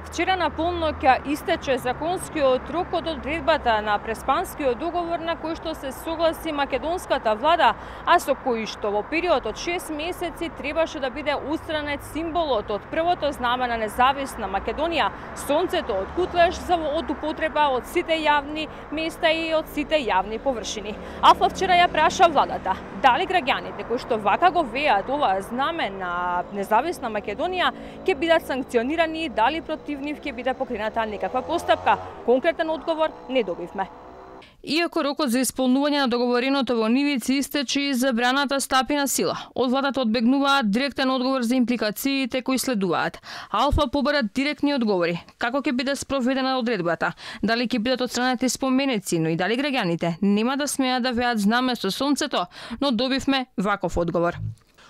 Вчера на полноќ истече законскиот рок од одредбата на Преспанскиот договор на кој што се согласи македонската влада, а со кој што во период од 6 месеци требаше да биде устранет символот од првото знаме на независна Македонија, сонцето од Кутлеш за од употреба од сите јавни места и од сите јавни површини. Алфа вчера ја праша владата дали граѓаните кои што вака го веат ова знаме на независна Македонија ќе бидат санкционирани и дали против нив ќе биде покрената некаква постапка. Конкретен одговор не добивме. Иако рокот за исполнување на договореното во нивици истече и забраната стапи на сила, од владата одбегнуваат директен одговор за импликациите кои следуваат. Алфа побара директни одговори. Како ќе биде спроведена одредбата? Дали ќе бидат отстранети споменици, но и дали граѓаните нема да смеат да веат знаме со сонцето, но добивме ваков одговор.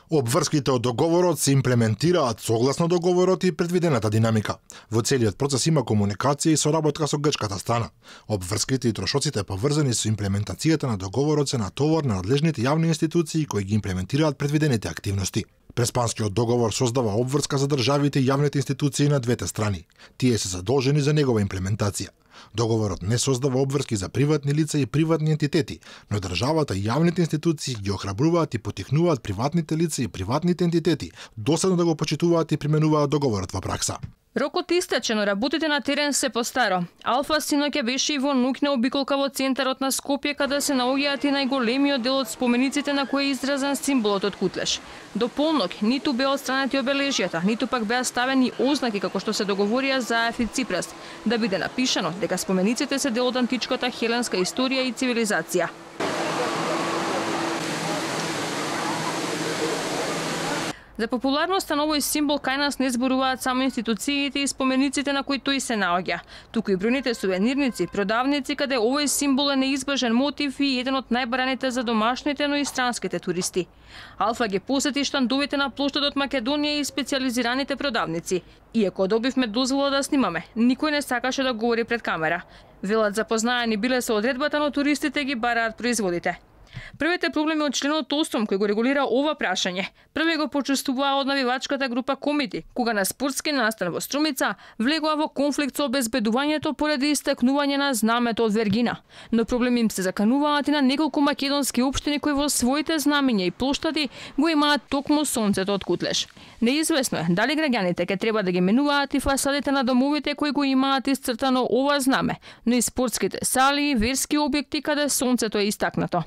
Обврските од договорот се имплементираат согласно договорот и предвидената динамика. Во целиот процес има комуникација и соработка со грчката страна. Обврските и трошоците поврзани со имплементацијата на договорот се натовар на надлежните јавни институции кои ги имплементираат предвидените активности. Преспанскиот договор создава обврска за државите и јавните институции на двете страни. Тие се задолжени за негова имплементација. Договорот не создава обврски за приватни лица и приватни ентитети, но државата и јавните институции ги охрабруваат и потикнуваат приватните лица и приватните ентитети доследно да го почитуваат и применуваат договорот во пракса. Рокот истече, но работите на терен се постаро. Алфа синоќа беше и во ноќна обиколка во центарот на Скопје, каде се наоѓаат и најголемиот дел од спомениците на кој е изразен символот од Кутлеш. До полноќ ниту беа отстранети обележјата, ниту пак беа ставени ознаки како што се договорија Заев и Ципрас, да биде напишано дека спомениците се дел од античката хеленска историја и цивилизација. За популарноста на овој символ кај нас не зборуваат само институциите и спомениците на кои тој се наоѓа, туку и бројните сувенирници, продавници каде овој символ е неизбежен мотив и еден од најбараните за домашните, но и странските туристи. Алфа ги посети штандовите на плоштадот Македонија и специјализираните продавници. Иако добивме дозвола да снимаме, никој не сакаше да говори пред камера. Велат запознаени биле со одредбата, но туристите ги бараат производите. Првите проблеми од членот 8 кој го регулира ова прашање, први го почувствуваа од навивачката група Комити, кога на спортски настан во Струмица влегоа во конфликт со обезбедувањето поради истакнување на знамето од Вергина. Но проблеми им се закануваат и на неколку македонски општини кои во своите знамиња и плоштади го имаат токму сонцето од Кутлеш. Неизвестно е дали граѓаните ќе треба да ги менуваат и фасадите на домовите кои го имаат исцртано ова знаме, но и спортските сали и верски објекти каде сонцето е истакнато.